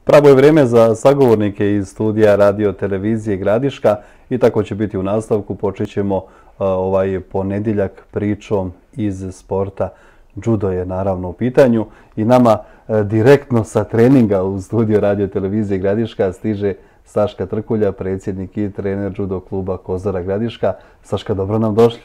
Pravo je vrijeme za sagovornike iz studija Radio Televizije Gradiška i tako će biti u nastavku. Počet ćemo ovaj ponedjeljak pričom iz sporta. Judo je naravno u pitanju i nama direktno sa treninga u studiju Radio Televizije Gradiška stiže Saška Trkulja, predsjednik i trener judo kluba Kozara Gradiška. Saška, dobro nam došli.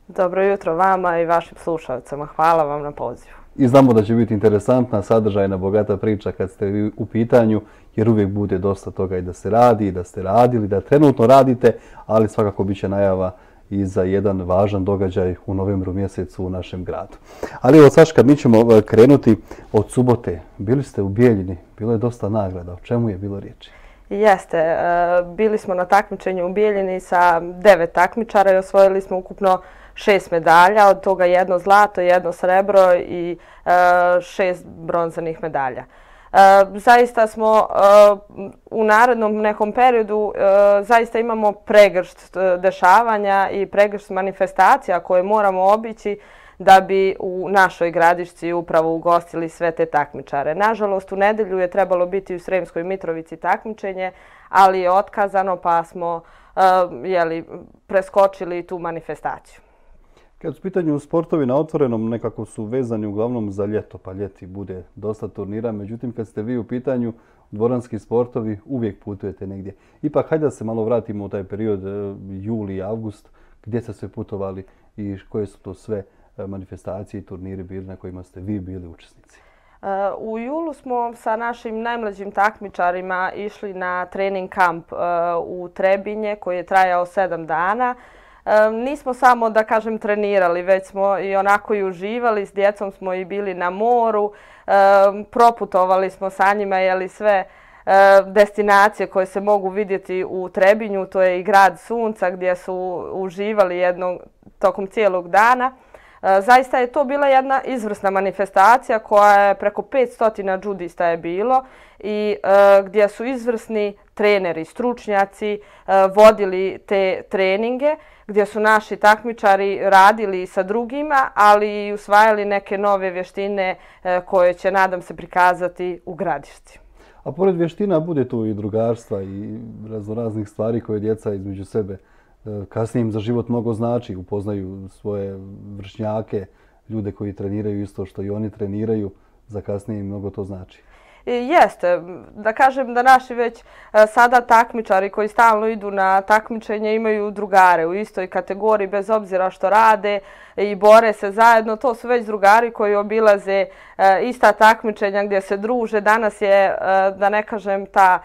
Dobro jutro vama i vašim slušalcima. Hvala vam na pozivu. I znamo da će biti interesantna, sadržajna, bogata priča kad ste vi u pitanju, jer uvijek bude dosta toga i da se radi, i da ste radili, da trenutno radite, ali svakako bit će najava i za jedan važan događaj u novembru mjesecu u našem gradu. Ali evo, Saška, mi ćemo krenuti od subote. Bili ste u Bijeljini, bilo je dosta nagrada. O čemu je bilo riječi? Jeste, bili smo na takmičenju u Bijeljini sa 9 takmičara i osvojili smo ukupno 6 medalja, od toga 1 zlato, 1 srebro i 6 bronzanih medalja. Zaista smo u narednom nekom periodu zaista imamo pregršt dešavanja i pregršt manifestacija koje moramo obići da bi u našoj Gradišci upravo ugostili sve te takmičare. Nažalost, u nedjelju je trebalo biti u Sremskoj Mitrovici takmičenje, ali je otkazano pa smo preskočili tu manifestaciju. Kad su u pitanju sportovi na otvorenom, nekako su vezani uglavnom za ljeto, pa ljeti bude dosta turnira. Međutim, kad ste vi u pitanju, dvoranski sportovi uvijek putujete negdje. Ipak, hajde da se malo vratimo u taj period juli i avgust, gdje ste sve putovali i koje su to sve manifestacije i turniri bili na kojima ste vi bili učesnici? U julu smo sa našim najmlađim takmičarima išli na trening kamp u Trebinje koji je trajao 7 dana. Nismo samo, da kažem, trenirali, već smo i onako i uživali. S djecom smo i bili na moru, proputovali smo sa njima sve destinacije koje se mogu vidjeti u Trebinju. To je i grad Sunca gdje su uživali tokom cijelog dana. Zaista je to bila jedna izvrsna manifestacija koja je preko 500 džudista je bilo i gdje su izvrsni treneri, stručnjaci vodili te treninge, gdje su naši takmičari radili sa drugima, ali i usvajali neke nove vještine koje će, nadam se, prikazati u Gradišci. A pored vještina bude tu i drugarstva i raznoraznih stvari koje djeca između sebe kasnije im za život mnogo znači, upoznaju svoje vršnjake, ljude koji treniraju isto što i oni treniraju, za kasnije im mnogo to znači. Jeste, da kažem da naši već sada takmičari koji stalno idu na takmičenje imaju drugare u istoj kategoriji bez obzira što rade i bore se zajedno. To su već drugari koji obilaze ista takmičenja gdje se druže. Danas je, da ne kažem, ta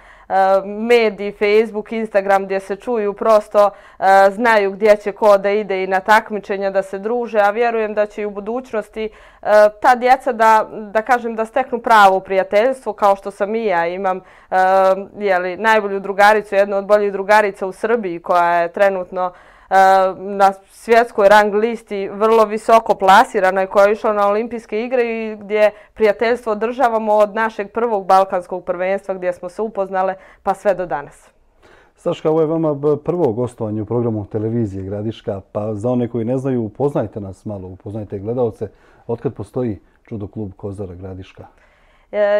mediji, Facebook, Instagram gdje se čuju, prosto znaju gdje će ko da ide i na takmičenja da se druže, a vjerujem da će i u budućnosti ta djeca da kažem da steknu pravo prijateljstvo kao što sam i ja. Imam najbolju drugaricu, jednu od boljih drugarica u Srbiji koja je trenutno na svjetskoj rang listi vrlo visoko plasirana i koja je išla na olimpijske igre i gdje prijateljstvo održavamo od našeg prvog balkanskog prvenstva gdje smo se upoznale pa sve do danas. Saška, ovo je vama prvo gostovanje u programu Televizije Gradiška, pa za one koji ne znaju, upoznajte nas malo, upoznajte gledalce. Otkad postoji judo klub Kozara Gradiška?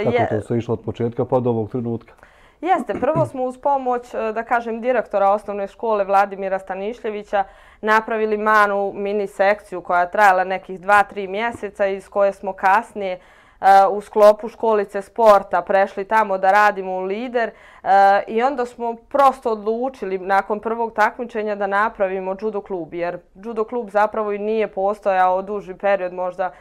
Kako to se išlo od početka pa do ovog trenutka? Jeste, prvo smo uz pomoć, da kažem, direktora osnovne škole Vladimira Stanišljevića napravili malu mini sekciju koja je trajala nekih 2-3 mjeseca iz koje smo kasnije u sklopu školice sporta prešli tamo da radimo u Lider i onda smo prosto odlučili nakon prvog takmičenja da napravimo judo klub, jer judo klub zapravo i nije postojao duži period, možda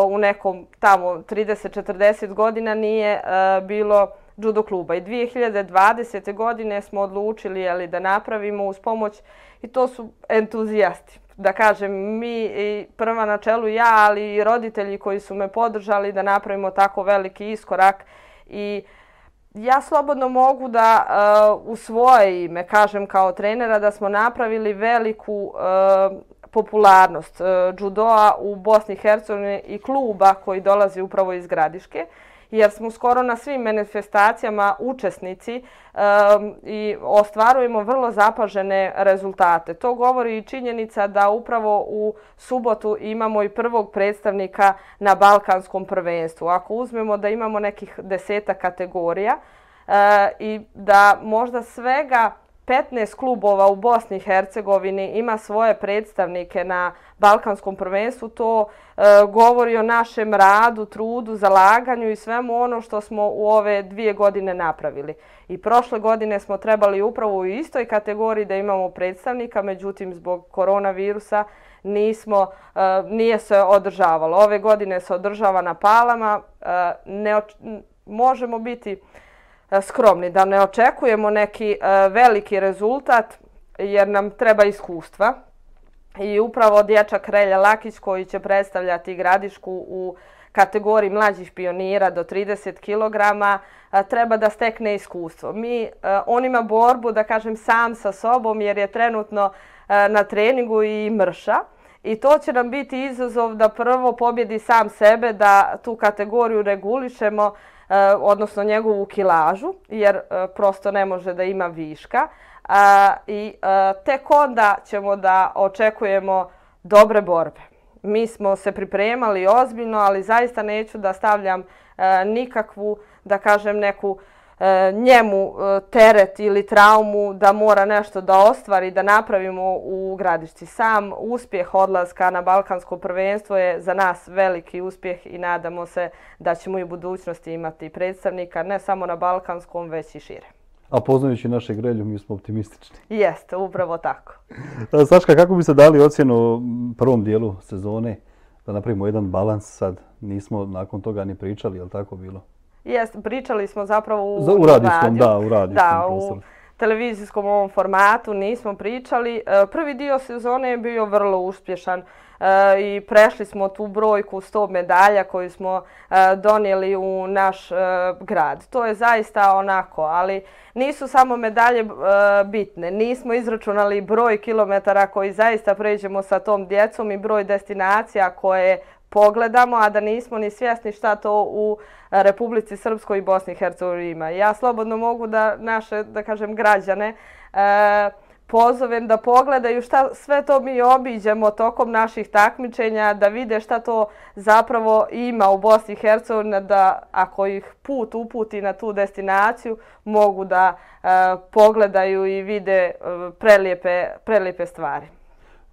u nekom tamo 30-40 godina nije bilo judo kluba. I 2020. godine smo odlučili da napravimo uz pomoć, i to su entuzijasti. Da kažem, mi prva na čelu ja, ali i roditelji koji su me podržali da napravimo tako veliki iskorak. I ja slobodno mogu da u svoje ime kažem kao trenera da smo napravili veliku popularnost judoa u Bosni i Hercegovini i kluba koji dolazi upravo iz Gradiške. jer smo skoro na svim manifestacijama učesnici i ostvarujemo vrlo zapažene rezultate. To govori i činjenica da upravo u subotu imamo i prvog predstavnika na Balkanskom prvenstvu. Ako uzmemo da imamo nekih 10 kategorija i da možda svega 15 klubova u Bosni i Hercegovini ima svoje predstavnike na Balkanskom prvenstvu, to govori o našem radu, trudu, zalaganju i svemu ono što smo u ove 2 godine napravili. I prošle godine smo trebali upravo u istoj kategoriji da imamo predstavnika, međutim zbog koronavirusa nije se održavalo. Ove godine se održava na Palama, možemo biti skromni, da ne očekujemo neki veliki rezultat jer nam treba iskustva. I upravo dječak Relja Lakić koji će predstavljati Gradišku u kategoriji mlađih pionira do 30 kg treba da stekne iskustvo. On ima borbu, da kažem, sam sa sobom jer je trenutno na treningu i mrša. I to će nam biti izazov da prvo pobjedi sam sebe, da tu kategoriju regulišemo, odnosno njegovu kilažu, jer prosto ne može da ima viška. I tek onda ćemo da očekujemo dobre borbe. Mi smo se pripremali ozbiljno, ali zaista neću da stavljam nikakvu, da kažem, neku njemu teret ili traumu da mora nešto da ostvari, da napravimo u Gradišci. Sam uspjeh odlaska na Balkansko prvenstvo je za nas veliki uspjeh i nadamo se da ćemo i u budućnosti imati predstavnika ne samo na Balkanskom, već i šire. A poznajući našeg Relju, mi smo optimistični. Jeste, upravo tako. Saška, kako biste dali ocjenu prvom dijelu sezone? Da napravimo jedan balans sad. Nismo nakon toga ni pričali, je li tako bilo? Jeste, pričali smo zapravo u radijskom, da, u radijskom prostoru. U televizijskom ovom formatu nismo pričali. Prvi dio sezone je bio vrlo uspješan i prešli smo tu brojku 100 medalja koju smo donijeli u naš grad. To je zaista onako, ali nisu samo medalje bitne. Nismo izračunali broj kilometara koji zaista pređemo sa tom djecom i broj destinacija koje pogledamo, a da nismo ni svjesni šta to u Republici Srpskoj i Bosni i Hercegovini ima. Ja slobodno mogu da naše, da kažem, građane pozovem da pogledaju šta sve to mi obiđemo tokom naših takmičenja, da vide šta to zapravo ima u Bosni i Hercegovini, da ako ih put uputi na tu destinaciju mogu da pogledaju i vide prelijepe stvari.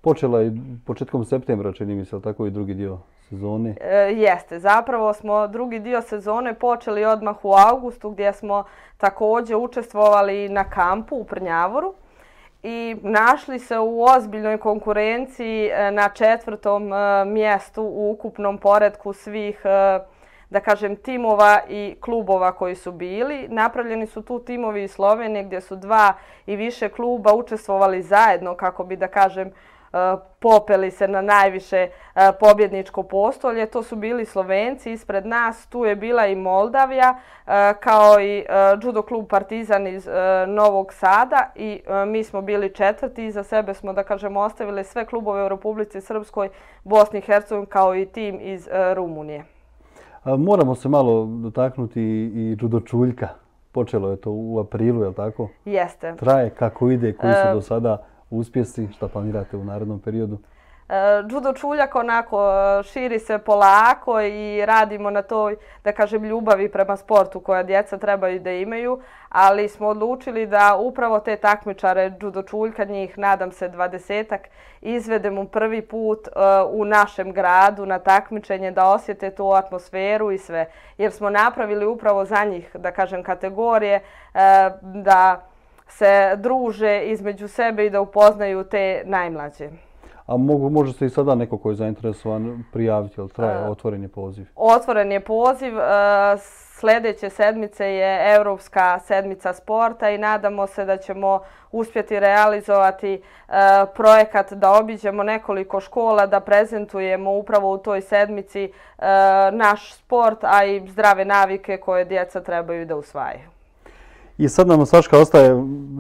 Počela je početkom septembra, čini mi se, tako i drugi dio sezone? Jeste. Zapravo smo drugi dio sezone počeli odmah u avgustu gdje smo također učestvovali na kampu u Prnjavoru i našli se u ozbiljnoj konkurenciji na 4. mjestu u ukupnom poretku svih, da kažem, timova i klubova koji su bili. Napravljeni su tu timovi iz Slovenije gdje su 2 i više kluba učestvovali zajedno kako bi, da kažem, popeli se na najviše pobjedničko postolje. To su bili Slovenci ispred nas, tu je bila i Moldavija kao i judo klub Partizan iz Novog Sada i mi smo bili 4. Iza sebe smo, da kažemo, ostavili sve klubove u Republici Srpskoj, Bosni i Hercegovini kao i tim iz Rumunije. Moramo se malo dotaknuti i judo čuljka. Počelo je to u aprilu, je li tako? Jeste. Traje, kako ide, koji su do sada uspjesi, šta planirate u narednom periodu? Judo čuljak onako širi se polako i radimo na toj, da kažem, ljubavi prema sportu koja djeca trebaju da imaju, ali smo odlučili da upravo te takmičare judo čuljka, njih nadam se 20-ak, izvedemo prvi put u našem gradu na takmičenje, da osjete tu atmosferu i sve. Jer smo napravili upravo za njih, da kažem, kategorije, da se druže između sebe i da upoznaju te najmlađe. A može se i sada neko koji je zainteresovan prijaviti, ali traje otvoren je poziv? Otvoren je poziv. Sljedeće sedmice je Europska sedmica sporta i nadamo se da ćemo uspjeti realizovati projekat da obiđemo nekoliko škola, da prezentujemo upravo u toj sedmici naš sport, a i zdrave navike koje djeca trebaju da usvajaju. I sad nam, Saška, ostaje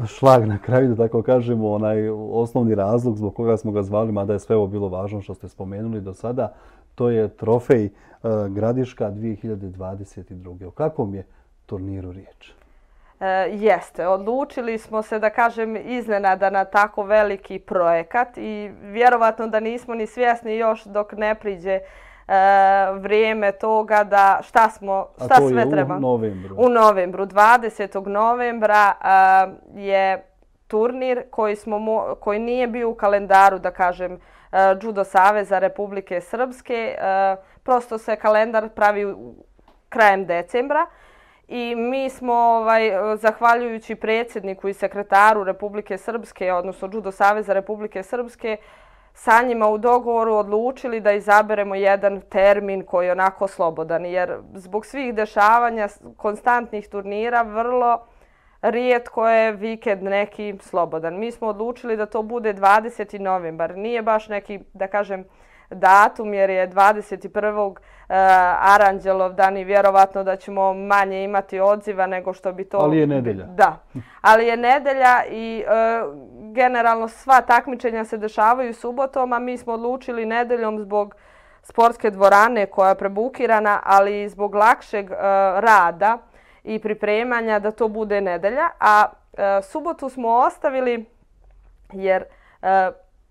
šlag na kraju, da tako kažemo, onaj osnovni razlog zbog koga smo ga zvali, mada je sve ovo bilo važno što ste spomenuli do sada. to je trofej Gradiška 2022. O kakvom je turniru riječ? Jeste, odlučili smo se, da kažem, iznenada na tako veliki projekat i vjerovatno da nismo ni svjesni još dok ne priđe vrijeme toga da šta sve treba. U novembru. U novembru, 20. novembra je turnir koji nije bio u kalendaru, da kažem, Judo Saveza Republike Srpske. Prosto se kalendar pravi krajem decembra. I mi smo, zahvaljujući predsjedniku i sekretaru Republike Srpske, odnosno Judo Saveza Republike Srpske, sa njima u dogovoru odlučili da izaberemo jedan termin koji je onako slobodan. Jer zbog svih dešavanja, konstantnih turnira, vrlo rijetko je vikend neki slobodan. Mi smo odlučili da to bude 20. novembar. Nije baš neki, da kažem, datum jer je 21. Aranđelov dan i vjerovatno da ćemo manje imati odziva nego što bi to... Ali je nedelja. Da, ali je nedelja i generalno sva takmičenja se dešavaju subotom, a mi smo odlučili nedeljom zbog sportske dvorane koja je prebukirana, ali i zbog lakšeg rada i pripremanja da to bude nedelja. A subotu smo ostavili jer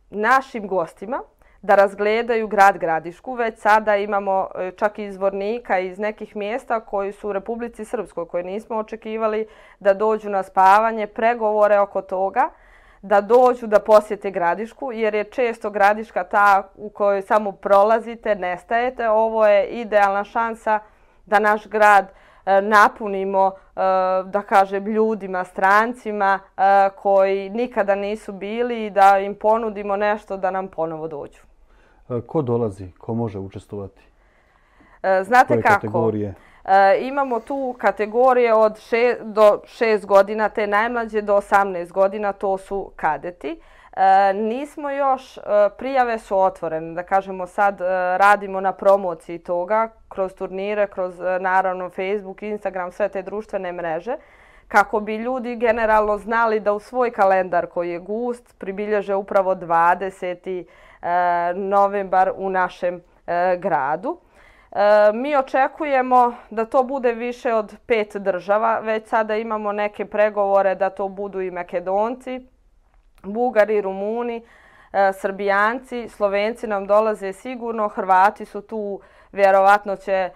našim gostima da razgledaju grad Gradišku. Već sada imamo čak i izvornika iz nekih mjesta koji su u Republici Srpskoj, koje nismo očekivali da dođu na spavanje, pregovore oko toga, da dođu da posjete Gradišku, jer je često Gradiška ta u kojoj samo prolazite, nestajete. Ovo je idealna šansa da naš grad napunimo, da kažem, ljudima, strancima koji nikada nisu bili i da im ponudimo nešto da nam ponovo dođu. Ko dolazi? Ko može učestvovati? Znate kako? Kategorije? Imamo tu kategorije od 6 godina, te najmlađe do 18 godina, to su kadeti. Nismo još, prijave su otvorene, da kažemo sad radimo na promociji toga kroz turnire, kroz naravno Facebook, Instagram, sve te društvene mreže, kako bi ljudi generalno znali da u svoj kalendar koji je gust pribilježe upravo 20. novembar u našem gradu. Mi očekujemo da to bude više od 5 država, već sada imamo neke pregovore da to budu i Makedonci, Bugari, Rumuni, Srbijanci, Slovenci nam dolaze sigurno, Hrvati su tu, vjerovatno će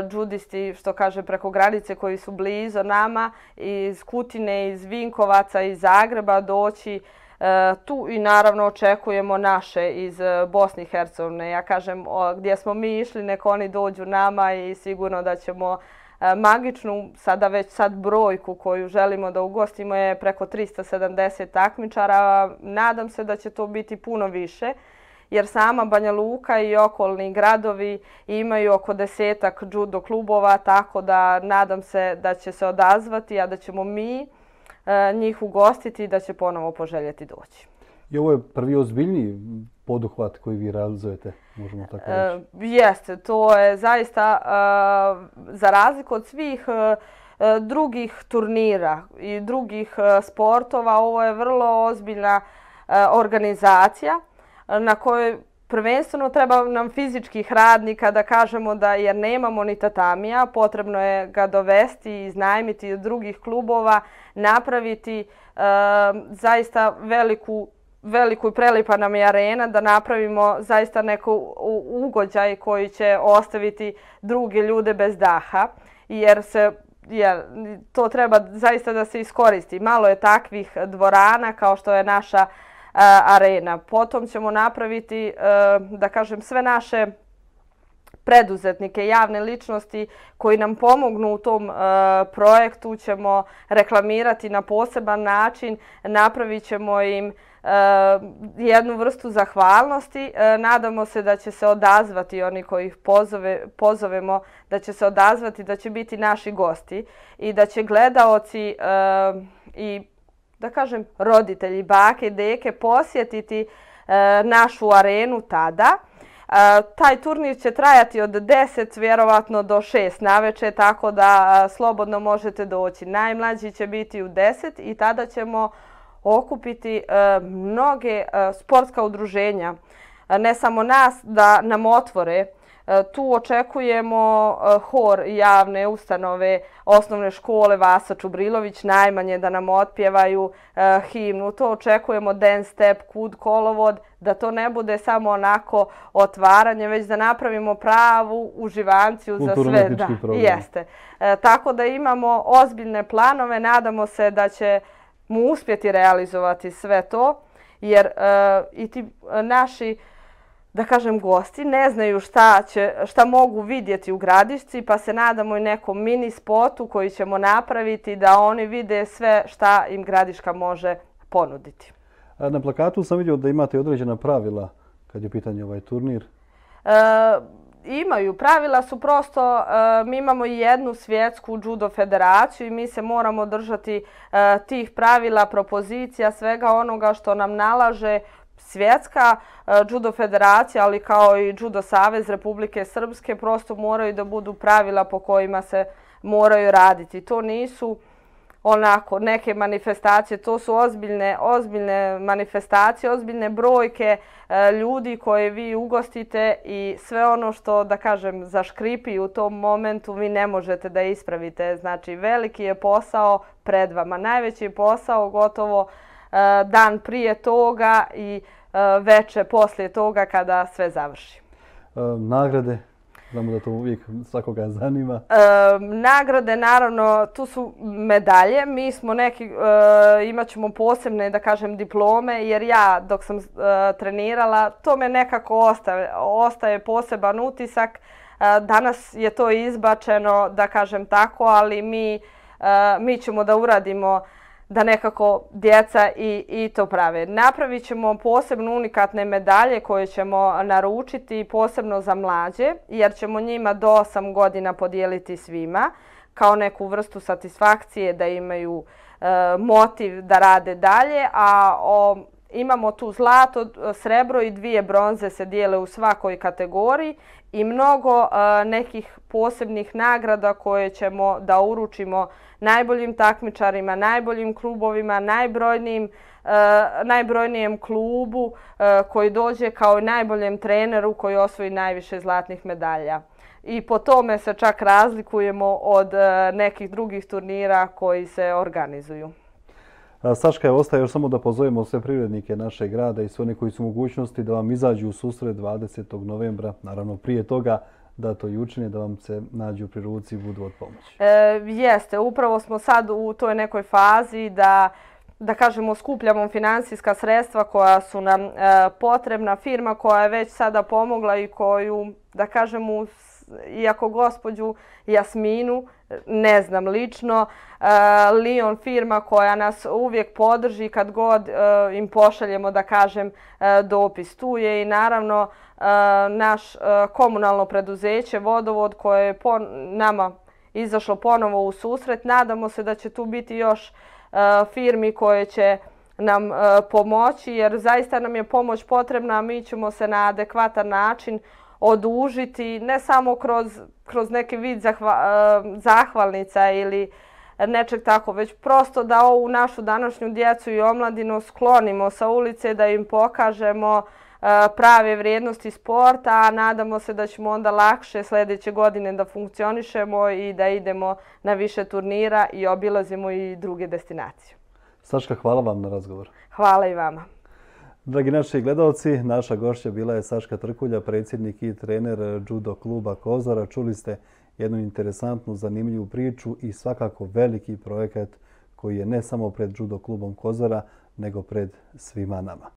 džudisti, što kaže, preko granice koji su blizu nama, iz Kutine, iz Vinkovaca, iz Zagreba doći tu i naravno očekujemo naše iz Bosne i Hercegovine. Ja kažem, gdje smo mi išli, nek oni dođu nama i sigurno da ćemo magičnu, sada već sad brojku koju želimo da ugostimo je preko 370 takmičara. Nadam se da će to biti puno više, jer sama Banja Luka i okolni gradovi imaju oko 10-ak judo klubova, tako da nadam se da će se odazvati, a da ćemo mi njih ugostiti i da će ponovo poželjeti doći. I ovo je prvi ozbiljniji poduhvat koji vi realizujete, možemo tako reći? Jeste, to je zaista, za razliku od svih drugih turnira i drugih sportova, ovo je vrlo ozbiljna organizacija na kojoj prvenstveno treba nam fizičkih radnika, da kažemo da, jer nemamo ni tatamija, potrebno je ga dovesti i iznajmiti od drugih klubova, napraviti zaista veliku i prelipa nam je arena, da napravimo zaista neko ugođaj koji će ostaviti druge ljude bez daha, jer to treba zaista da se iskoristi. Malo je takvih dvorana kao što je naša arena. Potom ćemo napraviti, da kažem, sve naše preduzetnike, javne ličnosti koji nam pomognu u tom projektu ćemo reklamirati na poseban način, napravit ćemo im jednu vrstu zahvalnosti. Nadamo se da će se odazvati oni koji ih pozovemo, da će se odazvati, da će biti naši gosti i da će gledaoci i, da kažem, roditelji, bake, deke posjetiti našu arenu tada. Taj turnir će trajati od 10 vjerovatno do 6 naveče, tako da slobodno možete doći. Najmlađi će biti u 10 i tada ćemo okupiti mnoge sportska udruženja, ne samo nas, da nam otvore Tu očekujemo hor javne ustanove, osnovne škole Vasa Čubrilović, najmanje da nam otpjevaju himnu. To očekujemo dance step, kud kolovod, da to ne bude samo onako otvaranje, već da napravimo pravu uživanciju za sve. Jeste. Tako da imamo ozbiljne planove, nadamo se da će mu uspjeti realizovati sve to, jer i ti naši, da kažem, gosti ne znaju šta mogu vidjeti u Gradišci, pa se nadamo i nekom mini spotu koji ćemo napraviti da oni vide sve šta im Gradiška može ponuditi. Na plakatu sam vidio da imate određena pravila kad je u pitanju ovaj turnir. Imaju. Pravila su prosto, mi imamo i jednu svjetsku judo federaciju i mi se moramo držati tih pravila, propozicija, svega onoga što nam nalaže svjetska judo federacija, ali kao i Judo savez Republike Srpske, prosto moraju da budu pravila po kojima se moraju raditi. To nisu onako neke manifestacije, to su ozbiljne manifestacije, ozbiljne brojke ljudi koje vi ugostite i sve ono što, da kažem, zaškripi u tom momentu vi ne možete da ispravite. Znači, veliki je posao pred vama. Najveći je posao gotovo dan prije toga i veče poslije toga kada sve završi. Nagrade? Znamo da to uvijek svakoga zanima. Nagrade, naravno, tu su medalje. Mi smo imat ćemo posebne, da kažem, diplome, jer ja dok sam trenirala, to me nekako ostaje poseban utisak. Danas je to izbačeno, da kažem tako, ali mi ćemo da uradimo da nekako djeca i to prave. Napravit ćemo posebno unikatne medalje koje ćemo naručiti posebno za mlađe, jer ćemo njima do 8 godina podijeliti svima kao neku vrstu satisfakcije da imaju motiv da rade dalje, a imamo tu zlato, srebro i 2 bronze se dijele u svakoj kategoriji i mnogo nekih posebnih nagrada koje ćemo da uručimo najboljim takmičarima, najboljim klubovima, najbrojnijem klubu koji dođe kao i najboljem treneru koji osvoji najviše zlatnih medalja. I po tome se čak razlikujemo od nekih drugih turnira koji se organizuju. Saška, ostaje još samo da pozovemo sve privrednike našeg grada i sve one koji su u mogućnosti da vam izađu u susret 20. novembra. Naravno, prije toga da to i učine, da vam se nađu pri ruci i budu od pomoći. Jeste, upravo smo sad u toj nekoj fazi da kažemo, skupljamo finansijska sredstva koja su nam potrebna. Firma koja je već sada pomogla i koju, da kažemo, iako gospođu Jasminu ne znam lično, Lion firma koja nas uvijek podrži kad god im pošaljemo, da kažem, dopis. Tu je i naravno naš komunalno preduzeće Vodovod koje je nama izašlo ponovo u susret. Nadamo se da će tu biti još firmi koje će nam pomoći, jer zaista nam je pomoć potrebna, a mi ćemo se na adekvatan način odužiti, ne samo kroz neki vid zahvalnica ili nečeg tako, već prosto da ovu našu današnju djecu i omladinu sklonimo sa ulice, da im pokažemo prave vrijednosti sporta, a nadamo se da ćemo onda lakše sljedeće godine da funkcionišemo i da idemo na više turnira i obilazimo i druge destinacije. Saška, hvala vam na razgovor. Hvala i vama. Dragi naši gledalci, naša gošća bila je Saška Trkulja, predsjednik i trener judo kluba Kozara. Čuli ste jednu interesantnu, zanimljivu priču i svakako veliki projekat koji je ne samo pred judo klubom Kozara, nego pred svima nama.